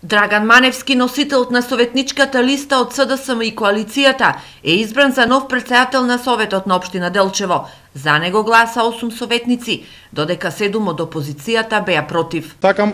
Драган Маневски, носителот на советничката листа од СДСМ и коалицијата, е избран за нов претседател на Советот на општина Делчево. За него гласа 8 советници, додека 7 од опозицијата беа против. Такам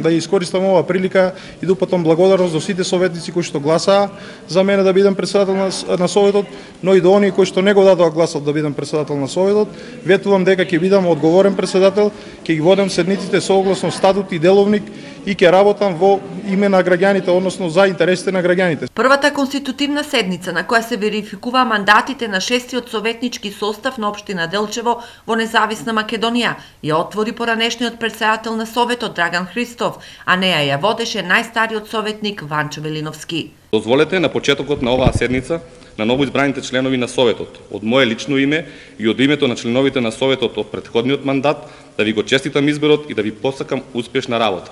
да искористам ова прилика и да упатам благодарност до сите советници кои што гласаа за мене да бидам претседател на Советот, но и до оние кои што не го дадоа гласот да бидам претседател на Советот. Ветувам дека ќе бидам одговорен претседател, ќе ги водам седниците согласно статут и деловник и ќе работам во име на граѓаните, односно за интересите на граѓаните. Првата конститутивна седница на која се верификува мандатите на 6-тиот советнички состав на општина Делчево во независна Македонија ја отвори поранешниот претседател на Советот Драган Христов, а неја ја водеше најстариот советник Ванчо Велиновски. Дозволете на почетокот на оваа седница на новоизбраните членови на Советот, од мое лично име и од името на членовите на Советот од претходниот мандат, да ви го честитам изборот и да ви посакам успешна работа.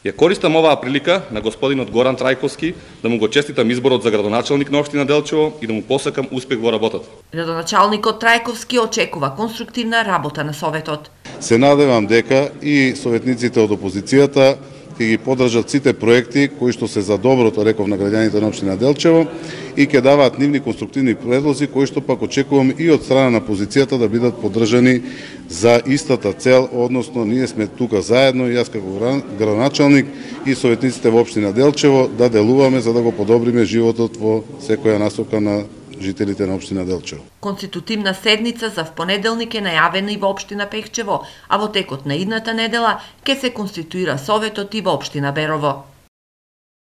Ја користам оваа прилика на господинот Горан Трајковски да му го честитам изборот за градоначалник на општина Делчево и да му посакам успех во работата. Градоначалникот Трајковски очекува конструктивна работа на Советот. Се надевам дека и советниците од опозицијата ќе ги поддржат сите проекти кои што се за доброто, реков, на граѓаните на општина Делчево и ќе даваат нивни конструктивни предлози кои што пак очекувам и од страна на опозицијата да бидат поддржани за истата цел, односно ние сме тука заедно, јас како градоначалник и советниците во општина Делчево да делуваме за да го подобриме животот во секоја насока на жителите на општина Делчево. Конститутивна седница за впонеделник е најавена и во општина Пехчево, а во текот на идната недела ќе се конституира Советот и во општина Берово.